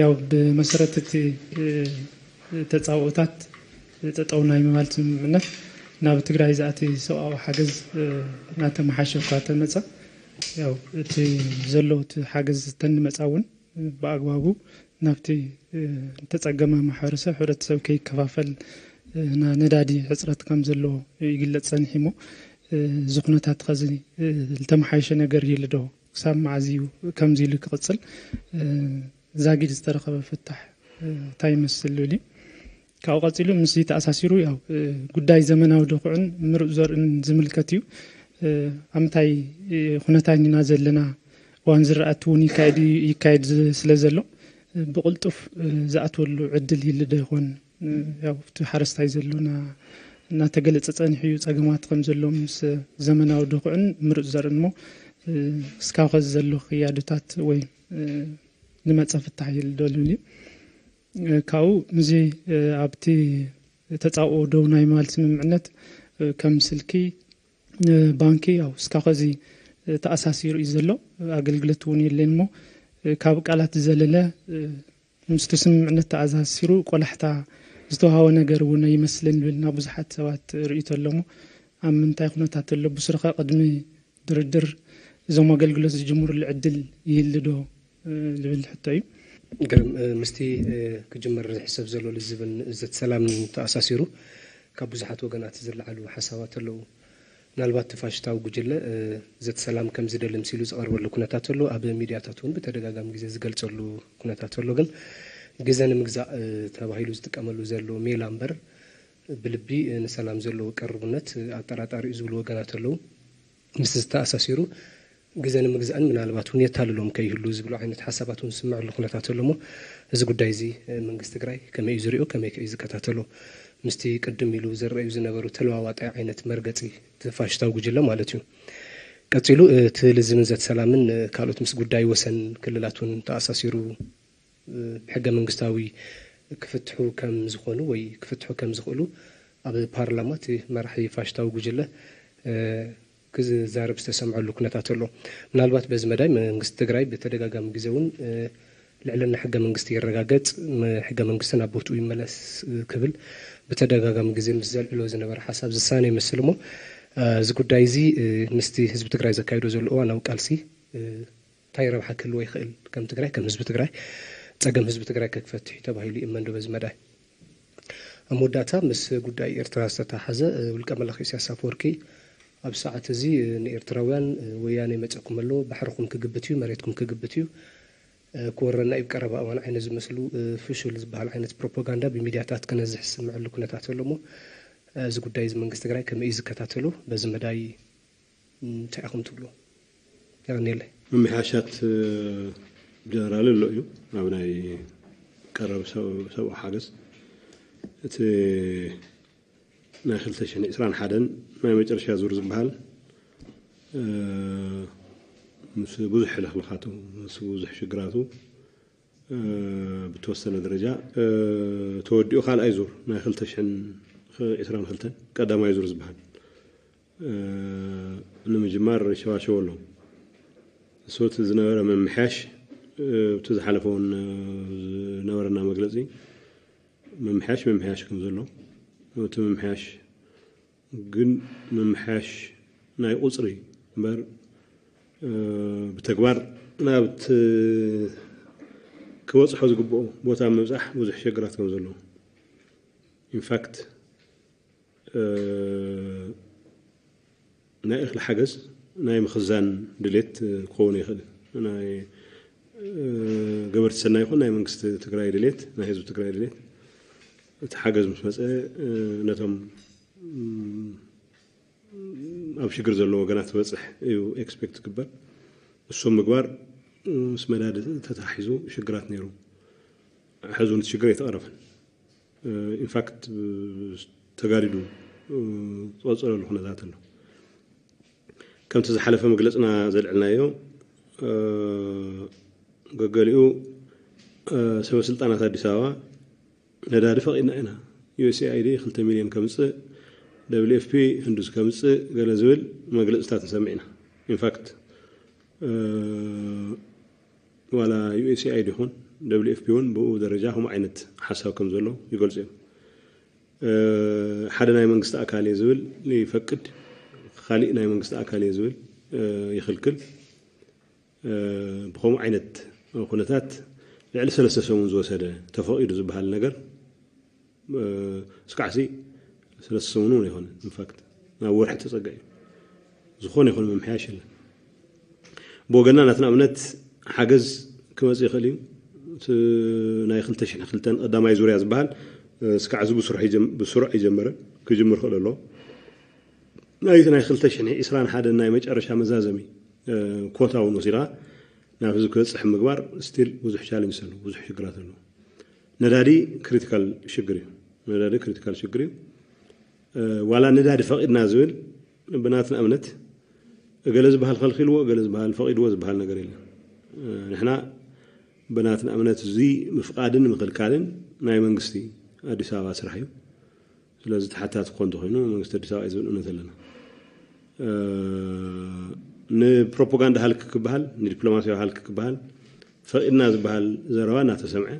ያው ብመሰረት እቲ ተፃብኦታት ጠጠው ናይ ምባል ስምምዕነት ናብ ትግራይ ዝኣቲ ሰብኣዊ ሓገዝ እናተመሓሸ እኳ ተመፃ፣ ያው እቲ ዘሎ እቲ ሓገዝ ተንመፃ እውን ብኣግባቡ ናብቲ ዝተፀገመ ማሕበረሰብ፣ ሕብረተሰብ ከይከፋፈል ና ነዳዲ ሕፅረት ከም ዘሎ ይግለፅ ፀኒሑ እሞ፣ እዚ ኩነታት ከዚ ዝተመሓየሸ ነገር ይህሉ ዶ? ክሳብ መዓዝ እዩ ከምዚ ኢሉ ክቕፅል ዛጊድ ዝተረኸበ ፍታሕ እንታይ ይመስል ዝብል እዩ። ካብኡ ቀፂሉ ምስ ተኣሳሲሩ ያው ጉዳይ ዘመናዊ ድኹዕን ምሩፅ ዘርእን ዝምልከት እዩ። ኣብ ምንታይ ኩነታት ኢና ዘለና? እዋን ዝራእቲ እውን ይካየድ ስለ ዘሎ ብቕልጡፍ ዝኣትወሉ ዕድል ይህሉ ዶ ይኾን? ያው እቲ ሓረስታይ ዘሎና እናተገለፀ ፀኒሑ እዩ። ፀገማት ከም ዘሎ ምስ ዘመናዊ ድኹዕን ምሩፅ ዘርእን እሞ እስካብ ከዚ ዘሎ ክያዶታት ወይ ዝመፀ ፍታሕ ይህሉ ዶ ዝብል እዩ። ካብኡ ምስዚ ኣብቲ ተፃብኦ ደው ናይ ምባል ስምምዕነት ከም ስልኪ፣ ባንኪ ያው እስካብ ከዚ ተኣሳሲሩ እዩ ዘሎ። ኣገልግሎት እውን የለን እሞ ካብ ቃላት ዝዘለለ ምስቲ ስምምዕነት ተኣሳሲሩ ቆላሕታ ዝተዋሃበ ነገር እውን ኣይመስልን ዝብል ናብ ብዙሓት ሰባት ርእይቶ ኣሎ እሞ ኣብ ምንታይ ኩነታት ኣሎ? ብስሩኸ ቅድሚ ድርድር እዞም ኣገልግሎት ዝጅምሩሉ ዕድል ይህሉ ዶ ዝብል ሕቶ እዩ። ግርም፣ ምስቲ ክጅመር ዝሕሰብ ዘሎ ልዝብን ዘተ ሰላምን ተኣሳሲሩ ካብ ብዙሓት ወገናት ዝለዓሉ ሓሳባት ኣለዉ። ምናልባት እቲ ፋሽስታዊ ጉጅለ ዘተ ሰላም ከም ዝደሊ ምሲሉ ዝቐርበሉ ኩነታት ኣሎ። ኣብ ሚድያታት እውን ብተደጋጋሚ ግዜ ዝገልጸሉ ኩነታት ኣሎ። ግን ግዜ ንምግዛእ ተባሂሉ ዝጥቀመሉ ዘሎ ሜላ እምበር ብልቢ ንሰላም ዘለዎ ቅርቡነት ኣጠራጣሪ እዩ ዝብሉ ወገናት ኣለዉ። ምስ ዝተኣሳሲሩ ግዜ ንምግዛእን ምናልባት እውን የታልሎም ከይህሉ ዝብሉ ዓይነት ሓሳባት እውን ዝስምዐሉ ኩነታት ኣሎ እሞ፣ እዚ ጉዳይ እዚ መንግስቲ ትግራይ ከመይ እዩ ዝሪኦ? ከመይ ከ እዩ ዝከታተሎ? ምስቲ ቅድም ኢሉ ዝረኣዩ ዝነበሩ ተለዋዋጣይ ዓይነት መርገፂ እቲ ፋሽስታዊ ጉጅለ ማለት እዩ። ቀፂሉ እቲ ልዝብን ዘተ ሰላምን ካልኦት ምስ ጉዳይ ወሰን ክልላት እውን ተኣሳሲሩ ብሕገ መንግስታዊ ክፍትሑ ከም ዝኾኑ ወይ ክፍትሑ ከም ዝኽእሉ ኣብ ፓርላማ እቲ መራሒ ፋሽስታዊ ጉጅለ ክዛረብ ዝተሰምዐሉ ኩነታት ኣሎ። ምናልባት በዚ መዳይ መንግስቲ ትግራይ ብተደጋጋሚ ግዜ እውን ልዕልና ሕገ መንግስቲ ይረጋገፅ፣ ሕገ መንግስቲ ናብ ቦትኡ ይመለስ ክብል ብተደጋጋሚ ግዜ ምስ ዘልዕሎ ዝነበረ ሓሳብ ዝሳነ ይመስል እሞ፣ እዚ ጉዳይ እዚ ምስቲ ህዝቢ ትግራይ ዘካይዶ ዘሎ እዋናዊ ቃልሲ እንታይ ረብሓ ክህልዎ ይኽእል? ከም ትግራይ፣ ከም ህዝቢ ትግራይ፣ ፀገም ህዝቢ ትግራይ ከክፈትሕ እዩ ተባሂሉ ይእመን ዶ በዚ መዳይ? ኣብ መወዳእታ ምስ ጉዳይ ኤርትራ ዝተተሓሓዘ ውልቀ መላኺ ኢሳያስ ኣፈወርቂ ኣብ ሰዓት እዚ ንኤርትራውያን ወያነ ይመፀኩም ኣሎ፣ ባሕርኹም ክግብት እዩ፣ መሬትኩም ክግብት እዩ፣ ክወረና እዩ፣ ቀረባ እዋን ዓይነት ዝመስሉ ፍሹል ዝበሃል ዓይነት ፕሮፓጋንዳ ብሚድያታት ክነዝሕ ዝስምዐሉ ኩነታት ኣሎ እሞ እዚ ጉዳይ እዚ መንግስቲ ትግራይ ከመይ እዩ ዝከታተሎ? በዚ መዳይ እንታይ ኢኹም ትብሉ? የቐንየለይ። ምምሕያሻት ጀነራል ኣሎ እዩ ኣብ ናይ ቀረብ ሰብ- ሰብኣዊ ሓገዝ። እቲ ናይ ክልተ ሽሕን ዕስራን ሓደን ናይ መጨረሻ ዙር ዝበሃል ምስ ብዙሕ ሕልኽልኻቱ ምስ ብዙሕ ሽግራቱ ብተወሰነ ደረጃ ተወዲኡ ካልኣይ ዙር ናይ ክልተ ሽሕን ዕስራን ክልተን ቀዳማይ ዙር ዝበሃል ንምጅማር ሸዋሸው ኣሎ። እሱ እቲ ዝነበረ ምምሕያሽ እቲ ዝሓለፈ እውን ዝነበረና መግለፂ ምምሕያሽ ምምሕያሽ ከም ዘሎ እቲ ምምሕያሽ ግን ምምሕያሽ ናይ ቁፅሪ እምበር ብተግባር ናብቲ ክበፅሖ ዝግብኦ ቦታ ምብፃሕ ብዙሕ ሸግራት ከም ዘለዎ ኢንፋክት ናይ እኽሊ ሓገዝ ናይ ምኽዛን ድሌት ክኸውን ይኽእል ናይ ገበርቲ ሰናይ ይኹን ናይ መንግስቲ ትግራይ ድሌት ናይ ህዝቢ ትግራይ ድሌት እቲ ሓገዝ ምስ መፀ ነቶም ኣብ ሽግር ዘለዎ ወገናት ትበፅሕ እዩ ኤክስፔክት ትግበር። እሶም ምግባር ምስ መዳድ ተታሒዙ ሽግራት ነይሩ። ሕዚ እውን እቲ ሽግር ኣይተቐረፈን። ኢንፋክት ተጋዲዱ ዝቐፀለሉ ኩነታት ኣሎ። ከምቲ ዝሓለፈ መግለፅና ዘልዕልናዮ ገገሊኡ ሰበ ስልጣናት ኣዲስ ኣበባ ነዳዲ ፈቒድና ኢና። ዩኤስኤኣይዲ ክልተ ሚልዮን ከምፅእ፣ ደብሊው ኤፍ ፒ ህንዱስ ከምፅእ ገለ ዝብል መግለፅታት ንሰምዕ ኢና። ኢንፋክት ዋላ ዩኤስኤኣይዲ ይኹን ደብሊው ኤፍ ፒ እውን ብኡ ደረጃ ከምኡ ዓይነት ሓሳብ ከም ዘሎ ይገልጹ እዮም። ሓደ ናይ መንግስቲ ኣካል እየ ዝብል ይፈቅድ፣ ካሊእ ናይ መንግስቲ ኣካል እየ ዝብል ይኽልክል። ብኸምኡ ዓይነት ኩነታት ልዕሊ ሰለስተ ሰሙን ዝወሰደ ተፈቒዱ ዝበሃል ነገር እስካዕሲ ሰለስተ ሰሙን እውን ኣይኮነ። ኢንፋክት ናብ ወርሒ ተጸጋ እዩ። ዝኾነ ይኹን ምምሕያሽ የለን። ብወገና ናትና እምነት ሓገዝ ክመጽእ ይኽእል እዩ። ናይ ክልተ ሽሕን ክልተን ቀዳማይ ዙርያ ዝበሃል እስካዕ እዚ ብስሩዕ ይጀመረ ክጅምር ክእል ኣሎ። ናይቲ ናይ ክልተ ሽሕን ዕስራን ሓደን ናይ መጨረሻ መዛዘሚ ኮታ እውን ወሲድካ ናብ ህዝቢ ክበፅሕ ምግባር ስቲል ብዙሕ ቻለንጅ ኣሎ፣ ብዙሕ ሽግራት ኣሎ። ነዳዲ ክሪቲካል ሽግር እዩ። ነዳዲ ክሪቲካል ሽግር እዩ። ዋላ ነዳዲ ፈቒድና ዝብል ብናትና እምነት እገለ ዝበሃል ከልኪልዎ፣ እገለ ዝበሃል ፈቒድዎ ዝበሃል ነገር የለን። ንሕና ብናትና እምነት እዚ ምፍቓድን ምኽልካልን ናይ መንግስቲ ኣዲስ ኣበባ ስራሕ እዩ። ስለዚ ተሓታቲ ክኾን እንተኾይኑ መንግስቲ ኣዲስ ኣበባ እዩ ዝብል እምነት ኣለና። ንፕሮፓጋንዳ ሃልኪ ክበሃል፣ ንዲፕሎማሲያዊ ሃልኪ ክበሃል ፈቒድና ዝበሃል ዘረባ እናተሰምዐ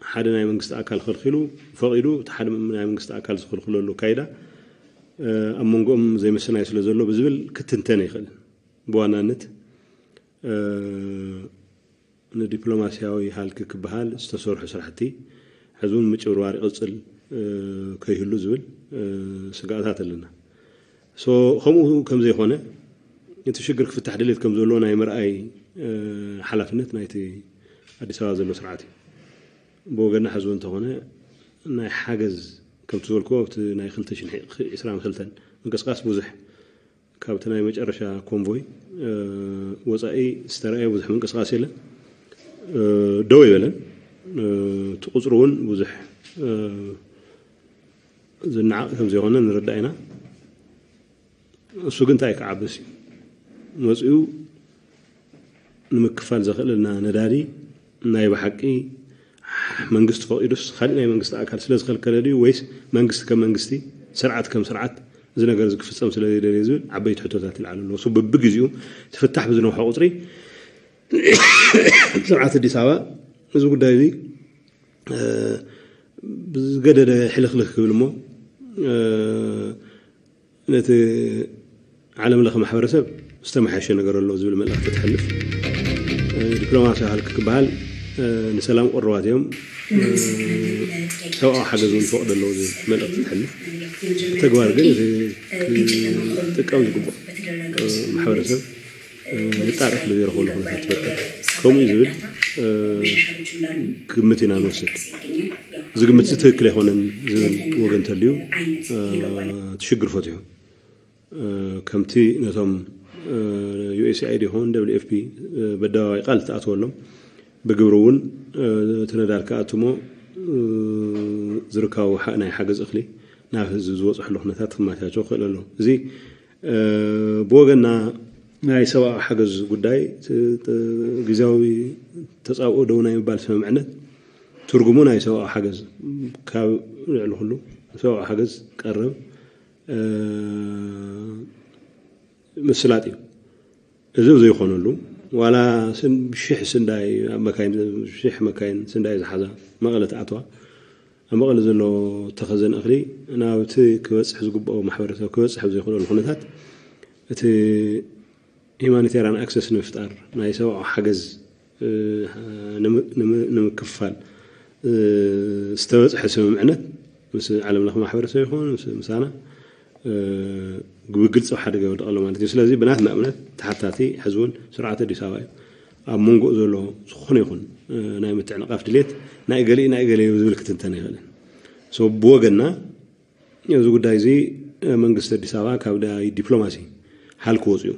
ሓደ ናይ መንግስቲ ኣካል ከልኪሉ ፈቒዱ እቲ ሓደ ናይ መንግስቲ ኣካል ዝኽልክለሉ ኣካይዳ ኣብ መንጎኦም ዘይምስናይ ስለ ዘሎ ብዝብል ክትንተን ይኽእል። ብዋናነት ንዲፕሎማሲያዊ ሃልኪ ክበሃል ዝተሰርሑ ስራሕቲ ሕዚ እውን ምጭብርባር ይቕፅል ከይህሉ ዝብል ስጋኣታት ኣለና። ከምኡ ከም ዘይኮነ እቲ ሽግር ክፍታሕ ድሌት ከም ዘሎ ናይ ምርኣይ ሓላፍነት ናይቲ ኣዲስ ኣበባ ዘሎ ስርዓት እዩ። ብወገና ሕዚ እውን እንተኾነ ናይ ሓገዝ ከምቲ ዝበልክዎ ኣብቲ ናይ ክልተ ሽሕን ዕስራን ክልተን ምንቅስቃስ ብዙሕ ካብቲ ናይ መጨረሻ ኮንቮይ ወፃኢ ዝተረኣየ ብዙሕ ምንቅስቃስ የለን። ደው ይበለን። እቲ ቁፅሪ እውን ብዙሕ ዝነዓቕ ከም ዘይኮነ ንርዳእ ኢና። እሱ ግን እንታይ ክዓብስ እዩ መፅኡ ንምክፋል ዘኽእለና ነዳዲ ናይ ብሓቂ መንግስቲ ፈቒዱስ ካሊእ ናይ መንግስቲ ኣካል ስለ ዝኸልከለ ድዩ ወይስ መንግስቲ ከም መንግስቲ ስርዓት ከም ስርዓት እዚ ነገር እዚ ክፍፀም ስለ ዘይደልየ ዝብል ዓበይቲ ሕቶታት ይለዓሉ ኣለዉ። እሱ በብግዜኡ ትፍታሕ ብዝነውሖ ቁፅሪ ስርዓት ኣዲስ ኣበባ እዚ ጉዳይ እዚ ብዝገደደ ሕልኽልኽ ክብል እሞ ነቲ ዓለም ለኸ ማሕበረሰብ ዝተመሓየሸ ነገር ኣሎ ዝብል መልእኽቲ ተሕልፍ። ዲፕሎማሲ ሃልክ ክበሃል ንሰላም ቅርባት እዮም፣ ሰብኣዊ ሓገዝ እውን ይፈቕዶ ኣለዉ ዝብል መልእኽቲ ተሕልፍ። ብተግባር ግን እቲ ክጥቀም ዝግብኦ ማሕበረሰብ የጣርፍ ብዘይረኸበሉ ኩነታት ትፈጥር። ከምኡ እዩ ዝብል ግምት ኢና ንወስድ። እዚ ግምት እዚ ትክክል ኣይኮነን ዝብል ወገን እንተልዩ እቲ ሽግር ፈትሑ። ከምቲ ነቶም ዩ ኤስ ኤ ኣይ ዲ ይኹን ደብሊው ኤፍ ፒ በደባባይ ቃል ዝተኣተወሎም ብግብሪ እውን እቲ ነዳድ ክኣትሞ ዝርካቡ ናይ ሓገዝ እኽሊ ናብ ህዝቢ ዝበፅሐሉ ኩነታት ክመቻቸው ክኽእል ኣለዎ። እዚ ብወገና ናይ ሰብኣዊ ሓገዝ ጉዳይ ግዜያዊ ተፃብኦ ደው ናይ ምባል ስምምዕነት ትርጉሙ ናይ ሰብኣዊ ሓገዝ ካብ ልዕሊ ኩሉ ሰብኣዊ ሓገዝ ቀረብ ምስላጥ እዩ። እዚ ዘይኮነሉ ዋላ ሽሕ ስንዳይ ኣብ መካይን ሽሕ መካይን ስንዳይ ዝሓዛ መቐለ ትኣትዋ ኣብ መቐለ ዘሎ ተኸዘን እኽሊ ናብቲ ክበፅሕ ዝግብኦ ማሕበረሰብ ክበፅሕ ብዘይክእለሉ ኩነታት እቲ ሂማኒቴርያን ኣክሰስ ንምፍጣር ናይ ሰብኣዊ ሓገዝ ንምክፋል ዝተበፅሐ ስምምዕነት ምስ ዓለም ለኸ ማሕበረሰብ ይኹን ምሳና ብግልፂ ኣብ ሓደጋ ይወድቕ ኣሎ ማለት እዩ። ስለዚ ብናትና እምነት ተሓታቲ ሕዚ እውን ስርዓት ኣዲስ ኣበባ እዩ። ኣብ መንጎኡ ዘሎ ዝኾነ ይኹን ናይ ምትዕንቓፍ ድሌት ናይ ገሊኡ ናይ ገለ ዝብል ክትንተን ኣይኽእልን። ብወገንና እዚ ጉዳይ እዚ መንግስቲ ኣዲስ ኣበባ ካብ ናይ ዲፕሎማሲ ሓል ክወፅኡ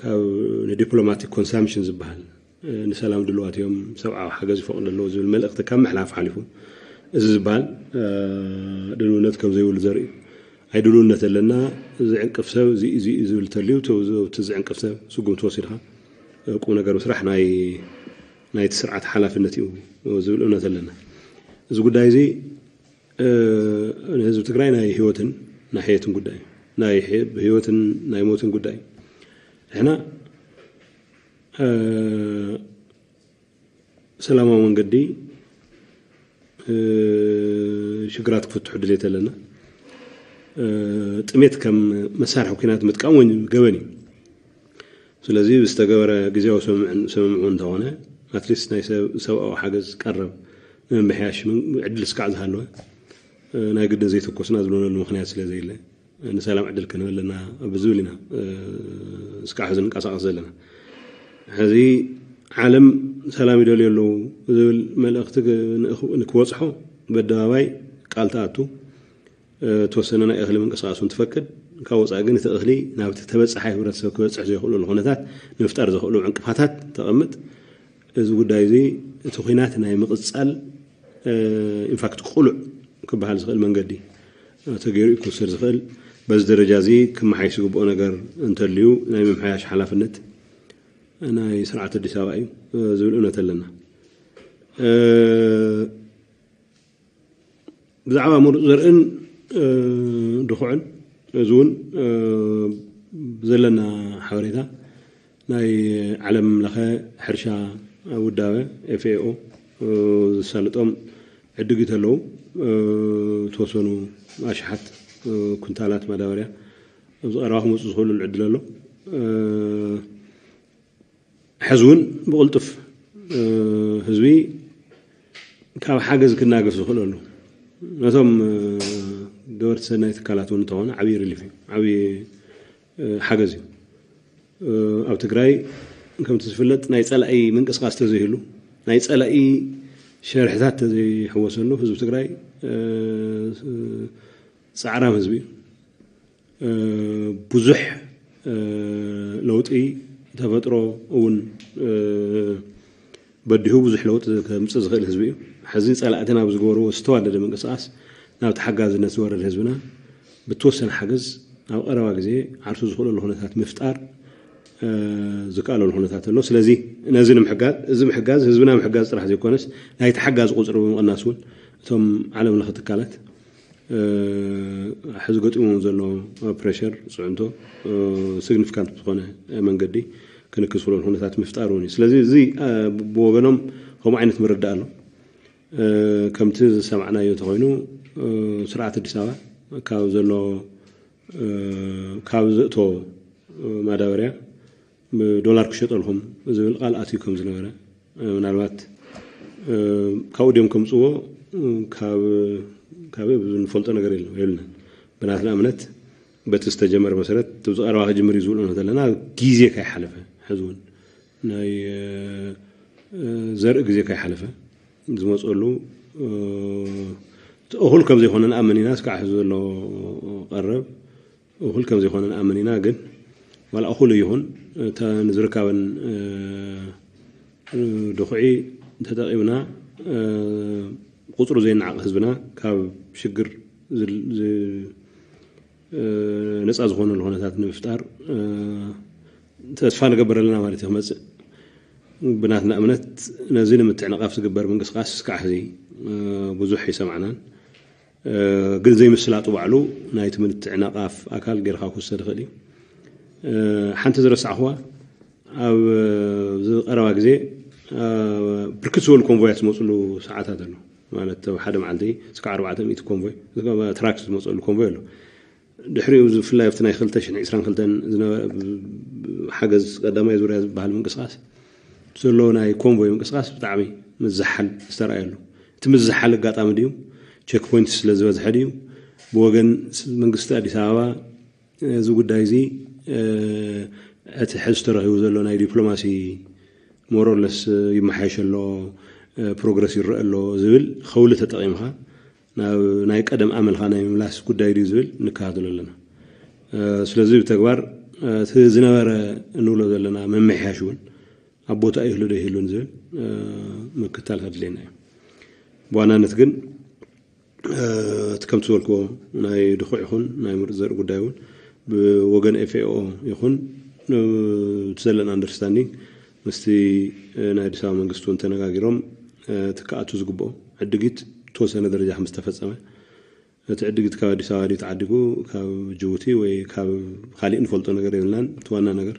ካብ ንዲፕሎማቲክ ኮንሳምፕሽን ዝበሃል ንሰላም ድልዋት እዮም፣ ሰብኣዊ ሓገዝ ይፈቕዱ ኣለዉ ዝብል መልእኽቲ ካብ ምሕላፍ ሓሊፉ እዚ ዝበሃል ድልውነት ከም ዘይብሉ ዘርኢ እዩ። ኣይ ድልውነት ኣለና ዝዕንቅፍ ሰብ እዚ እዚ እዩ ዝብል እንተልዩ እቲ ዝዕንቅፍ ሰብ ስጉምቲ ወሲድካ ቁም ነገር ምስራሕ ናይ ናይቲ ስርዓት ሓላፍነት እዩ ዝብል እምነት ኣለና። እዚ ጉዳይ እዚ ንህዝቢ ትግራይ ናይ ህይወትን ናይ ሕየትን ጉዳይ ናይ ህይወትን ናይ ሞትን ጉዳይ ንሕና ሰላማዊ መንገዲ ሽግራት ክፍትሑ ድሌት ኣለና። ጥሜት ከም መሳርሒ ኩናት ምጥቃም እውን ገበን እዩ። ስለዚ ዝተገበረ ግዜያዊ ስምምዑ እንተኾነ ኣትሊስት ናይ ሰብኣዊ ሓገዝ ቀረብ ንምምሕያሽ ዕድል ስካዕ ዝሃለወ ናይ ግድን ዘይተኮስና ዝብለሉ ምክንያት ስለ ዘየለ ንሰላም ዕድል ክንህብ ኣለና ብዝብል ኢና እስካዕ ሕዚ ንንቀሳቐስ ዘለና። ሕዚ ዓለም ሰላም ይደልዩ ኣለዉ ዝብል መልእኽቲ ንክበፅሖ በደባባይ ቃል ተኣቱ። ተወሰነ ናይ እኽሊ ምንቅስቃስ እውን ትፈቅድ። ካብ ወፃኢ ግን እቲ እኽሊ ናብቲ ተበፃሓይ ህብረተሰብ ክበፅሕ ዘይኽእለሉ ኩነታት ንምፍጣር ዘኽእሉ ዕንቅፋታት ተቐምጥ። እዚ ጉዳይ እዚ እቲ ኩናት ናይ ምቕፃል ኢንፋክት ቅሉዕ ክበሃል ዝኽእል መንገዲ ተገይሩ እዩ ክውሰድ ዝኽእል። በዚ ደረጃ እዚ ክመሓየሽ ዝግብኦ ነገር እንተልዩ ናይ ምምሓያሽ ሓላፍነት ናይ ስርዓት ኣዲስ ኣበባ እዩ ዝብል እምነት ኣለና። ብዛዕባ ምሩፅ ዘርእን ድኹዕን እዚ እውን ብዘለና ሓበሬታ ናይ ዓለም ለኸ ሕርሻ ውዳበ ኤፍኤኦ ዝሳልጦም ዕድጊት ኣለዉ። ተወሰኑ ኣሽሓት ኩንታላት ማዳበርያ ኣብዚ ቀረባ ክመፁ ዝኽእሉ ዕድል ኣሎ። ሕዚ እውን ብቕልጡፍ ህዝቢ ካብ ሓገዝ ክናገፍ ዝኽእለሉ ነቶም ገበርቲ ሰናይ ትካላት እውን እንተኾነ ዓብዪ ሪሊፍ እዩ፣ ዓብዪ ሓገዝ እዩ። ኣብ ትግራይ ከምቲ ዝፍለጥ ናይ ፀላኢ ምንቅስቃስ ተዘይህሉ ናይ ፀላኢ ሸርሕታት ተዘይሕወሰሉ ህዝቢ ትግራይ ፃዕራም ህዝቢ እዩ። ብዙሕ ለውጢ ተፈጥሮ እውን በዲሁ ብዙሕ ለውጢ ከምፅእ ዝኽእል ህዝቢ እዩ። ሕዚ ፀላእትና ብዝገበርዎ ዝተዋደደ ምንቅስቃስ ናብ ተሓጋዝነት ዝወረደ ህዝብና ብተወሰነ ሓገዝ ኣብ ቀረባ ግዜ ዓርሱ ዝኽእለሉ ኩነታት ምፍጣር ዝከኣለሉ ኩነታት ኣሎ። ስለዚ ነዚ ንምሕጋዝ እዚ ምሕጋዝ ህዝብና ምሕጋዝ ጥራሕ ዘይኮነስ ናይ ተሓጋዚ ቁፅሪ ብምቕናስ እውን እቶም ዓለም ለኸ ትካላት ሕዚ ገጢሞም ዘሎ ፕሬሸር ፅዕንቶ ሲግኒፊካንት ብዝኾነ መንገዲ ክንክስ ክብለሉ ኩነታት ምፍጣር እውን እዩ። ስለዚ እዚ ብወገኖም ከምኡ ዓይነት ምርዳእ ኣሎ። ከምቲ ዝሰማዕናዮ እንተኮይኑ ስርዓት ኣዲስ ኣበባ ካብ ዘሎ ካብ ዘእቶ ማዳበርያ ብዶላር ክሸጠልኩም ዝብል ቃል ኣትዩ ከም ዝነበረ ምናልባት ካብኡ ድዮም ከምፅዎ ካብ ንፈልጦ ነገር የለን የብልናን። ብናትና እምነት በቲ ዝተጀመረ መሰረት እቲ ዝቀረባ ክጅምር እዩ ዝብሉ እንተለና ግዜ ካይሓለፈ ሕዚ እውን ናይ ዘርኢ ግዜ ካይሓለፈ ዝመፀሉ እኹል ከም ዘይኮነ ንኣምን ኢና። እስካዕ ሕዚ ዘሎ ቀረብ እኹል ከም ዘይኮነ ንኣምን ኢና። ግን ዋላ እኹል ይኹን እታ ንዝርካበን ድኹዒ ተጠቒምና ቁፅሩ ዘይነዓቕ ህዝብና ካብ ሽግር ነፃ ዝኾነሉ ኩነታት ንምፍጣር ተስፋ ንገብር ኣለና ማለት እዩ። ክመፅእ ብናትና እምነት ነዚ ንምትዕንቓፍ ዝግበር ምንቅስቃስ እስካዕ ሕዚ ብዙሕ ይሰማዕናን ግን ዘይምስላጡ ባዕሉ ናይቲ ምትዕንቓፍ ኣካል ጌርካ ክውሰድ ይኽእል እዩ። ሓንቲ ዝረሳዕኹዋ ኣብ ዝቀረባ ግዜ ብርክት ዝበሉ ኮንቮያት ዝመፅሉ ሰዓታት ኣሎ። ማለት ኣብ ሓደ መዓልቲ እስካዕ ኣርባዕተ ሚእቲ ኮንቮይ ትራክስ ዝመፀሉ ኮንቮይ ኣሎ። ድሕሪኡ ብፍላይ ኣብቲ ናይ ክልተ ሽሕን ዕስራን ክልተን ዝነበረ ሓገዝ ቀዳማይ ዙርያ ዝበሃል ምንቅስቃስ ዘሎ ናይ ኮንቮይ ምንቅስቃስ ብጣዕሚ ምዝሓል ዝተረኣየሉ። እቲ ምዝሓል ኣጋጣሚ ድዩ ቸክ ፖይንት ስለ ዝበዝሐ ድዩ ብወገን መንግስቲ ኣዲስ ኣበባ እዚ ጉዳይ እዚ እቲ ሕዚ ተረኺቡ ዘሎ ናይ ዲፕሎማሲ ሞሮለስ ይመሓየሽ ኣሎ ፕሮግረስ ይረአ ኣሎ ዝብል ከውሊ ተጠቒምካ ናብ ናይ ቀደም ኣመልካ ናይ ምምላስ ጉዳይ ድዩ ዝብል ንከታተሎ ኣለና። ስለዚ ብተግባር እቲ ዝነበረ እንብሎ ዘለና ምምሕያሽ እውን ኣብ ቦታ ይህሉ ዶ ይህሉን ዝብል ምክታል ከድልየና እዩ። ብዋናነት ግን እቲ ከምቲ ዝበልክዎ ናይ ድኹዕ ይኹን ናይ ምሩፅ ዘርኢ ጉዳይ እውን ብወገን ኤፍኤኦ ይኹን እቲ ዘለና ኣንደርስታንዲንግ ምስቲ ናይ ኣዲስ ኣበባ መንግስቲ እውን ተነጋጊሮም እቲ ክኣቱ ዝግብኦ ዕድጊት ተወሰነ ደረጃ ከም ዝተፈፀመ እቲ ዕድጊት ካብ ኣዲስ ኣበባ ድዩ ተዓዲጉ ካብ ጅቡቲ ወይ ካብ ካሊእ ንፈልጦ ነገር የብልናን። እቲ ዋና ነገር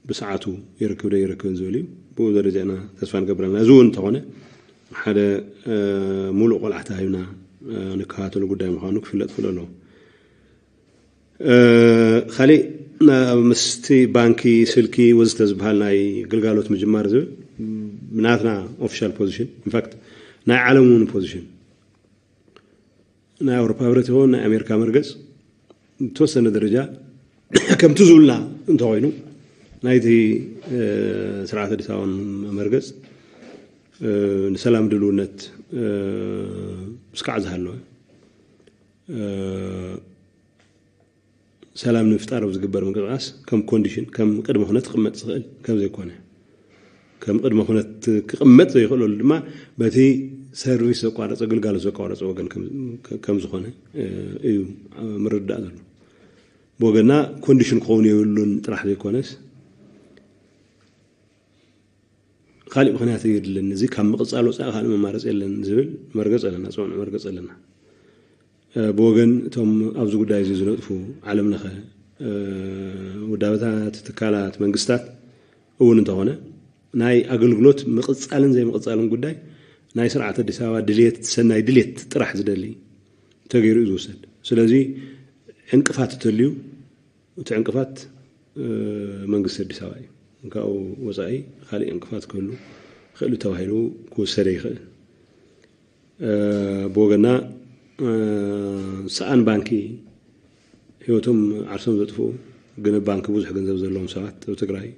ብሰዓቱ ይረክብ ዶ ይረክብን ዝብል እዩ። ብኡ ደረጃ ኢና ተስፋ ንገብር ኣለና። እዚ እውን እንተኾነ ሓደ ሙሉእ ቆልዓ ተዋሂብና ንከታተሎ ጉዳይ ምዃኑ ክፍለጥ ክእል ኣለዎ። ካሊእ ምስቲ ባንኪ፣ ስልኪ ወዘተ ዝበሃል ናይ ግልጋሎት ምጅማር ዝብል ብናትና ኦፊሻል ፖዚሽን፣ ኢንፋክት ናይ ዓለም እውን ፖዚሽን፣ ናይ ኣውሮፓ ህብረት ይኸውን ናይ ኣሜሪካ መርገፅ ብተወሰነ ደረጃ ከምቲ ዝብልና እንተኾይኑ፣ ናይቲ ስርዓት ኣዲስ ኣበባ መርገፅ ንሰላም ድልውነት ምስካዕ ዝሃለወ ሰላም ንምፍጣር ኣብ ዝግበር ምንቅስቃስ ከም ኮንዲሽን፣ ከም ቅድመ ኩነት ክቕመጥ ዝኽእል ከም ዘይኮነ፣ ከም ቅድመ ኩነት ክቕመጥ ዘይኽእለሉ ድማ በቲ ሰርቪስ ዘቋረፀ፣ ግልጋሎት ዘቋረፀ ወገን ከም ዝኾነ እዩ ምርዳእ ዘሎ። ብወገና ኮንዲሽን ክኸውን የብሉን ጥራሕ ዘይኮነስ ካሊእ ምኽንያት የድልን፣ እዚ ካብ ምቕፃል ወፃኢ ካልእ መማረፂ የለን ዝብል መርገፅ ኣለና፣ ፅኑዕ መርገፅ ኣለና። ብወገን እቶም ኣብዚ ጉዳይ እዚ ዝነጥፉ ዓለም ለኸ ውዳበታት፣ ትካላት፣ መንግስታት እውን እንተኾነ ናይ ኣገልግሎት ምቕፃልን ዘይምቕፃልን ጉዳይ ናይ ስርዓት ኣዲስ ኣበባ ድልየት፣ ሰናይ ድልየት ጥራሕ ዝደሊ ተገይሩ እዩ ዝውሰድ። ስለዚ ዕንቅፋት እተልዩ እቲ ዕንቅፋት መንግስቲ ኣዲስ ኣበባ እዩ። ካብኡ ወፃኢ ካሊእ ዕንቅፋት ክህሉ ይኽእል ተባሂሉ ክውሰደ ይኽእል። ብወገና ሰኣን ባንኪ ህይወቶም ዓርሶም ዘጥፍኡ ግን ባንኪ ብዙሕ ገንዘብ ዘለዎም ሰባት ኣብ ትግራይ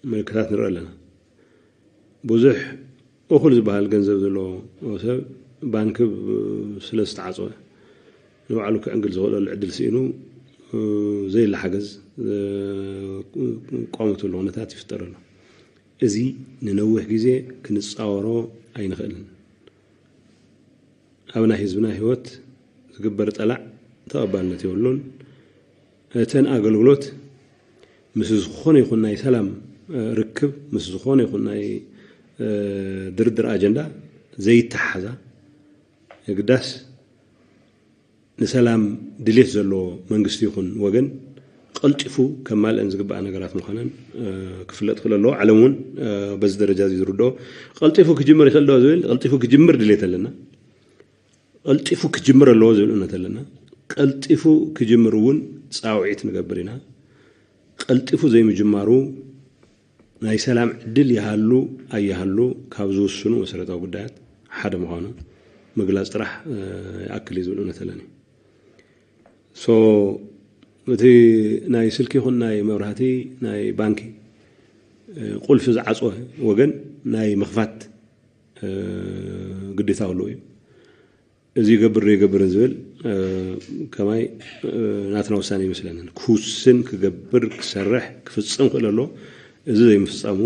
ምልክታት ንርኢ ኣለና። ብዙሕ እኹል ዝበሃል ገንዘብ ዘለዎ ሰብ ባንኪ ስለ ዝተዓፀወ ንባዕሉ ክዕንግል ዝኽእለሉ ዕድል ስኢኑ ዘይለ ሓገዝ ዝቋመተሉ ኩነታት ይፍጠር ኣሎ። እዚ ንነዊሕ ግዜ ክንፃወሮ ኣይንኽእልን። ኣብ ናይ ህዝብና ህይወት ዝግበር ጠላዕ ተቐባልነት የብሉን። እተን ኣገልግሎት ምስ ዝኾነ ይኹን ናይ ሰላም ርክብ፣ ምስ ዝኾነ ይኹን ናይ ድርድር ኣጀንዳ ዘይተሓሓዛ፣ የግዳስ ንሰላም ድሌት ዘለዎ መንግስቲ ይኹን ወገን ቀልጢፉ ከማልአን ዝግባኣ ነገራት ምዃነን ክፍለጥ ክእል ኣለዎ። ዓለም እውን በዚ ደረጃ እዚ ዝርድኦ፣ ቀልጢፉ ክጅምር ይኽእል ዶ ዝብል፣ ቀልጢፉ ክጅምር ድሌት ኣለና። ቀልጢፉ ክጅምር ኣለዎ ዝብል እምነት ኣለና። ቀልጢፉ ክጅምር እውን ፃውዒት ንገብር ኢና። ቀልጢፉ ዘይምጅማሩ ናይ ሰላም ዕድል ይሃሉ ኣይሃሉ ካብ ዝውስኑ መሰረታዊ ጉዳያት ሓደ ምዃኑ ምግላፅ ጥራሕ ይኣክል እዩ ዝብል እምነት ኣለኒ። ሶ እቲ ናይ ስልኪ ይኹን ናይ መብራህቲ፣ ናይ ባንኪ ቁልፊ ዝዓፅወ ወገን ናይ ምኽፋት ግዴታ ኣለዎ እዩ። እዚ ይገብር ዶ ይገብርን ዝብል ከማይ ናትና ውሳነ ይመስለንን። ክውስን፣ ክገብር፣ ክሰርሕ፣ ክፍፅም ክእል ኣሎ። እዚ ዘይምፍፃሙ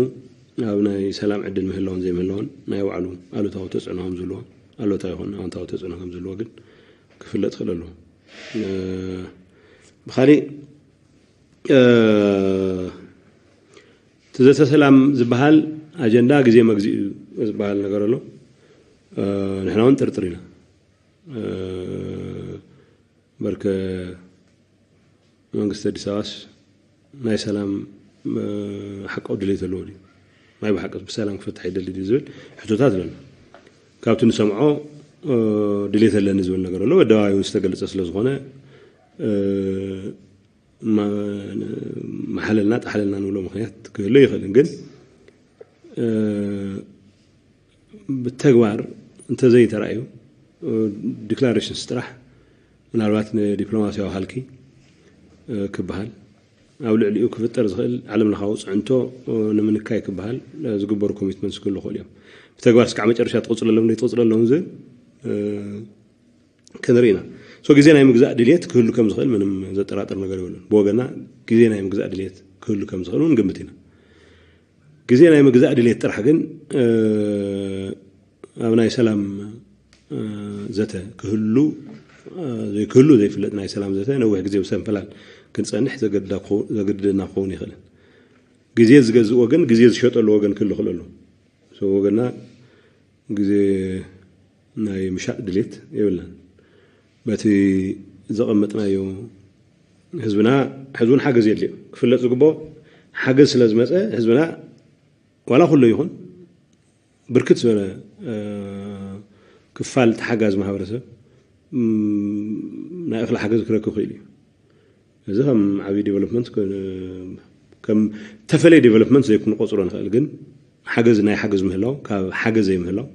ኣብ ናይ ሰላም ዕድል ምህላውን ዘይምህላውን ናይ ባዕሉ ኣሉታዊ ተፅዕኖ ከም ዝህልዎ፣ ኣሉታዊ ይኹን ኣወንታዊ ተፅዕኖ ከም ዝህልዎ ግን ክፍለጥ ክእል ኣሎ። ብኻሊእ እቲ ዘተ ሰላም ዝበሃል ኣጀንዳ ግዜ መግዚእ እዩ ዝበሃል ነገር ኣሎ። ንሕና እውን ጥርጥር ኢና። በርከ መንግስቲ ኣዲስ ኣበባስ ናይ ሰላም ሓቃዊ ድሌት ዘለዎ ድዩ? ናይ ብሓቂ ብሰላም ክፈትሕ ይደሊ ድዩ ዝብል ሕቶታት ኣለና። ካብቲ ንሰምዖ ድሌት ኣለኒ ዝብል ነገር ኣሎ። ኣደባባይ እውን ዝተገለጸ ስለ ዝኾነ መሓለልና ጣሓለልና ንብሎ ምኽንያት ክህሉ ይኽእልን፣ ግን ብተግባር እንተዘይተራእዩ ዲክላሬሽንስ ጥራሕ ምናልባት ንዲፕሎማሲያዊ ሃልኪ ክበሃል ኣብ ልዕሊኡ ክፍጠር ዝኽእል ዓለም ለኻዊ ፅዕንቶ ንምንካይ ክበሃል ዝግበሩ ኮሚትመንትስ ክህሉ ይኽእሉ እዮም። ብተግባር እስካዕ መጨረሻ ትቕፅለሎም ዘይትቕፅለሎም ዝብል ክንርኢ ኢና። ሶ ግዜ ናይ ምግዛእ ድልየት ክህሉ ከም ዝኽእል ምንም ዘጠራጥር ነገር የብሉን። ብወገና ግዜ ናይ ምግዛእ ድልየት ክህሉ ከም ዝኽእል እውን ንግምት ኢና። ግዜ ናይ ምግዛእ ድልየት ጥራሕ ግን ኣብ ናይ ሰላም ዘተ ክህሉ ዘይክህሉ ዘይፍለጥ ናይ ሰላም ዘተ ነዊሕ ግዜ ብሰንፈላል ክንፀንሕ ዘገድደና ክኸውን ይኽእልን። ግዜ ዝገዝእ ወገን፣ ግዜ ዝሸጠሉ ወገን ክህሉ ክእል ኣሎ። ወገና ግዜ ናይ ምሻጥ ድሌት የብልናን። በቲ ዘቐመጥናዮ ህዝብና ሕዚ እውን ሓገዝ የድልዮ። ክፍለጥ ዝግብኦ ሓገዝ ስለ ዝመፀ ህዝብና ዋላ ኩሉ ይኹን ብርክት ዝበለ ክፋል ተሓጋዚ ማህበረሰብ ናይ እኽሊ ሓገዝ ክረክብ ክእል እዩ። እዚ ከም ዓብዪ ዴቨሎፕመንት ከም ተፈለየ ዴቨሎፕመንት ዘይክንቆፅሮ ንኽእል፣ ግን ሓገዝ ናይ ሓገዝ ምህላው ካብ ሓገዝ ዘይምህላው